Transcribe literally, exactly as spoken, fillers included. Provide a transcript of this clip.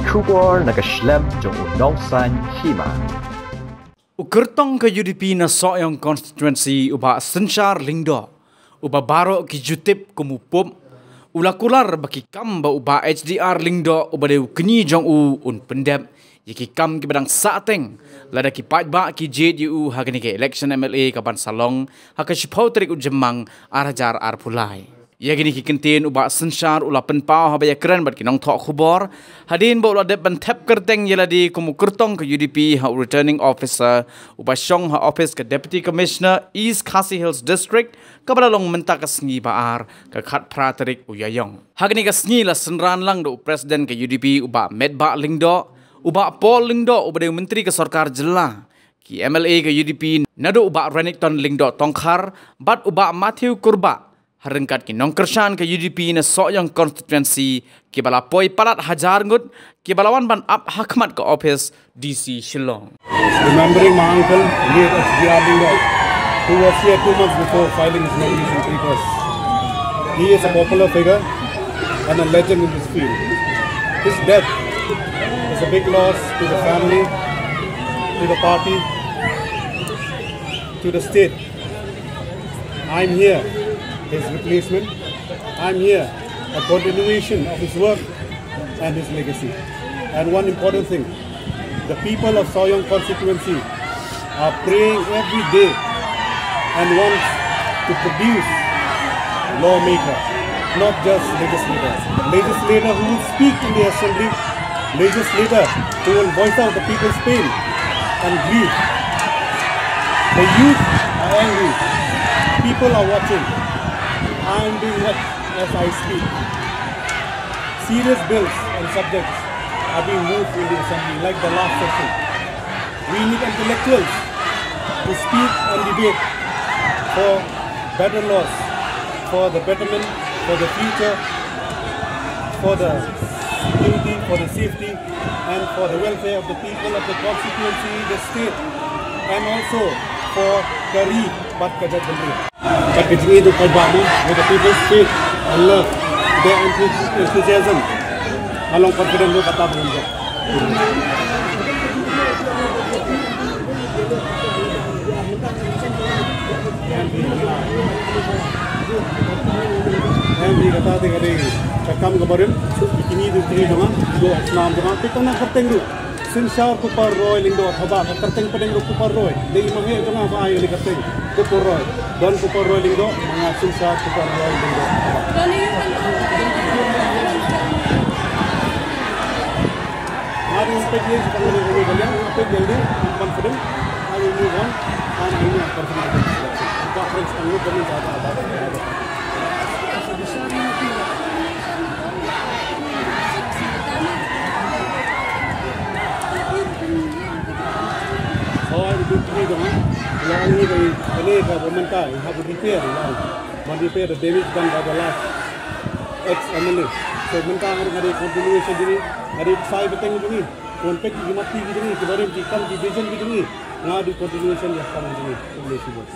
Khubor na ka shlem jong u Nongsaiñ Hima. U kyrtong ka U D P na Sohiong Constituency u Bah Synshar Lyngdoh, uba baroh ki ju tip kum u Pup, u la kular ba ki kam ba u Bah H D R Lyngdoh uba dei u kñi jong u un pyndep ïa ki kam kiba dang sahteng lada ki paidbah ki jied ïa u ha kane ka election M L A kaban sa long ha ka shiphew tarik u Jymmang ar hajar arphew lai. Ïa kine ki kyntien u Bah Synshar u la pynpaw haba ïakren bad ki nongthoh khubor hadien ba u la dep ban thep kyrteng ïa lade kum u kyrtong ka U D P ha u Returning Officer uba shong ha ophis ka Deputy Commissioner East Khasi Hills District, kaba la long mynta ka sngi ba ar, ka khatphra tarik u Ïaïong. Ha kane ka sngi la synran lang da u President ka U D P u Bah Metbah Lyngdoh, u Bah Paul Lyngdoh uba dei u Myntri ka Sorkar Jylla, ki M L A ka U D P naduh u Bah Renikton Lyngdoh Tongkhar bad u Bah Matthew Kurbah, ha ryngkat ki nongkyrshan ka U D P na Sohiong Constituency kiba la poi palat hajar ngut, kiba la wan ban ap ha khmat ka ophis D C Shillong. Remembering my uncle, late H D R Lyngdoh, who was here two months before filing his nomination papers. He is a popular figure and a legend in this field. His death is a big loss to the family, to the party, to the state. I'm here, his replacement. I'm here, a continuation of his work and his legacy. And one important thing, the people of Sohiong constituency are praying every day and want to produce lawmaker, not just legislator. Legislator who will speak in the assembly, legislator who will voice out the people's pain and grief. The youth are angry. People are watching. I am being watched as I speak. Serious bills and subjects are being moved in the assembly, like the last session. We need intellectuals to speak and debate for better laws, for the betterment, for the future, for the security, for the safety, and for the welfare of the people of the constituency, the state, and also for ka ri bad ka jaitbynriew. Bad ka jingïeit u paidbah mo, with the people's faith and love, their enthu-, enthusiasm, nga long confident ruh kata ba ngin jop. Em, hi kata te ka dei ka kam kaba rim, kine ki jingïeit jong nga, jong u snam jong nga, te tang na kyrteng ruh. Synshar Kupar Roy Lyngdoh, haba ka kyrteng pdeng ruh Kupar Roy. Dei i ma heh jong nga ba ai ïa kane ka kyrteng Kupar Roy. Don Kupar Roy Lyngdoh, ma nga Synshar Kupar Roy Lyngdoh. Nga dang peit ïa ka kyrteng Kupar Roy Lyngdoh, nga peit ïa lade, I'm confident, I will move on, and I know I'm confident. Ka friends ang lu kami sa ba ba. Hooid, u dei u kñi jong nga. U la ong ïa i, kane kaba mynta i hap ban repair, u la ong. Ban repair the damage done by the last ex M L A. So mynta nga dei continuation jong ngi, nga dei u ksai bteng jong ngi. Wan peit ki mat ki jong ngi, ki barim ki kam ki vision ki jong ngi. Nga dei continuation ïa ka kam jong ngi. Khublei shibun.